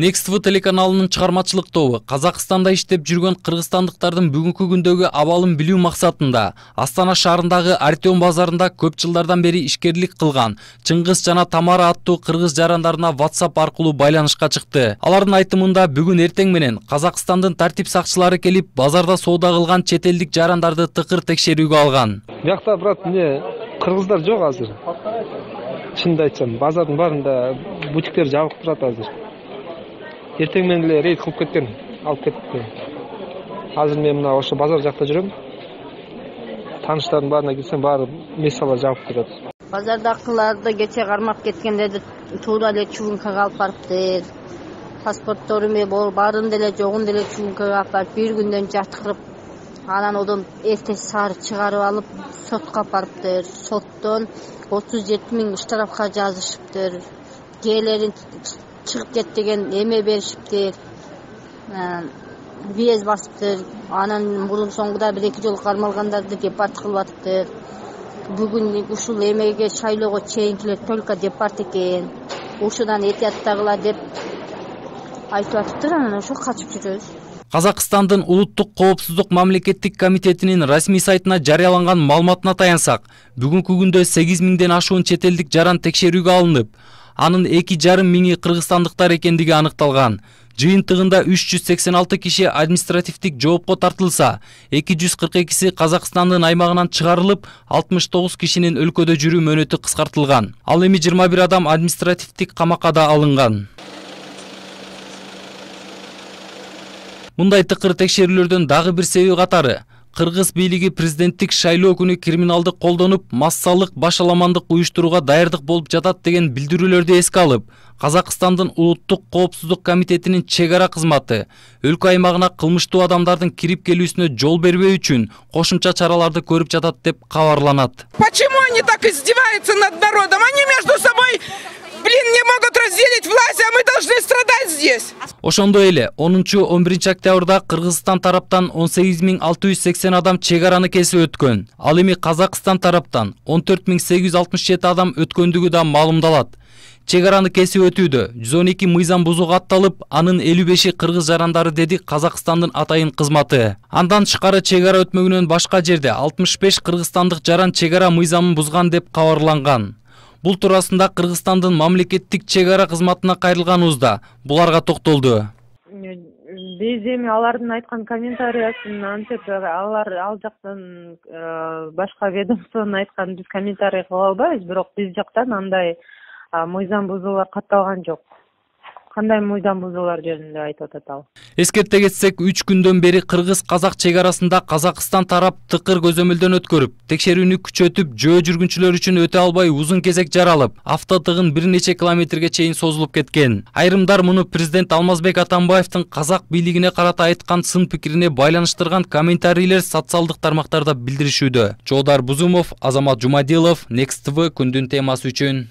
Next TV телеканалынын чыгармачылык тобу Казакстанда иштеп жүргөн кыргызстандыктардын бүгүнкү күндөгү абалын билүү максатында Астана шаарындагы Артем базарында көп жылдардан бери ишкерлик кылган Чыңгыз жана Тамара аттуу кыргыз жарандарына WhatsApp аркылуу байланышка чыкты. Алардын айтымында бүгүн эртең менен Казакстандын тартип сакчылары келип, базарда соода кылган чет элдик жарандарды тыкыр текшерүүгө алган. Бияқта брат, кыргыздар жок азыр. Чынды айтсам, базардын баарында бутиктер жабык турат азыр. Эртең менен эле рейд кылып кеткен, алып кетти. Азыр мен мына ошо базар жакта жүрөм. Тааныштардын баарына келсем, баары месалар жабык турат. Базардакыларды кече кармап кеткендерди туура эле чугункага алып барыптыр. Паспорттору баарын деле жогун деле чугункага алып барып, бир күндөн жаткырып, анан одон эртеси саары чыгарып алып, сотко алып барыптыр. Соттон 37 000 штрафка жазышыптыр. Кээлерин чыгып кет деген эме беришиптир. Биез басыптыр. Анан мурун соңгуда 1-2 жолу кармалгандарды депорт кылып атыптыр. Бүгүн ушул эмеге шайлоого чейинкилер только депорт экен. Ушудан этияттагылар деп айтып атыптыр, анан ошо качып жүрөбүз. Казакстандын улуттук коопсуздук мамлекеттик комитетинин расмий сайтына жарыяланган маалыматына таянсак, бүгүнкү күндө 8000ден ашуун чет элдик жаран текшерүүгө алынып, анын 2,5 миңи кыргызстандыктар экендиги аныкталган. Жыйынтыгында 386 киши административдик жоопко тартылса, 242си Казакстандын аймагынан чыгарылып, 69 кишинин өлкөдө жүрүү мөөнөтү кыскартылган. Ал эми 21 адам административдик камакка да алынган. Мындай тыкыр текшерүүлөрдүн дагы бир себеби катары кыргыз бийлиги президенттик шайлоо күнү криминалдык колдонуп, массалык башаламандык уюштурууга даярдык болуп жатат деген билдирүүлөрдү эске алып, Казакстандын улуттук коопсуздук комитетинин чек ара кызматы өлкө аймагына кылмыштуу адамдардын кирип келүүсүнө жол бербөө үчүн кошумча чараларды көрүп жатат деп кабарланат. Почему они так издеваются над народом? Они между собой не могут разделить власть, а мы должны страдать здесь. Ошондой эле 10-11 октябрда Кыргызстан тараптан 18680 адам чек араны кесип өткөн. Ал эми Казакстан тараптан 14867 адам өткөндүгү да маалымдалат. Чек араны кесип өтүүдө 112 мыйзам бузууга атталып, анын 55и кыргыз жарандары деди Казакстандын атайын кызматы. Андан тышкары чек ара өтмөгүнөн башка жерде 65 кыргызстандык жаран чек ара мыйзамын бузган деп кабарланган. Бул туурасында Кыргызстандын мамлекеттик чек ара кызматына кайрылганыбызда буларга токтолду. Биз эми алардын айткан комментариясын антип ал жактан башка ведомствонун айткан биз комментарий кыла албайбыз, бирок биз жактан андай мыйзам бузуулар катталган жок. Кандай мыйзам бузуулар жөнүндө айтып атат ал. Эскерте кетсек, 3 күндөн бери кыргыз-казак чек арасында Казакстан тарап тыкыр көзөмөлдөн өткөрүп, текшерүүнү күчөтүп, жөө жүргүнчүлөр үчүн өтө албай узун кезек жаралып, автотыгын бир нече километрге чейин созулуп кеткен. Айрымдар муну президент Алмазбек Атамбаевдин казак бийлигине карата айткан сын пикирине байланыштырган комментарийлер социалдык тармактарда билдиришүүдө. Жолдар Бузумов, Азамат Жумадилов, Next TV күндүн темасы үчүн.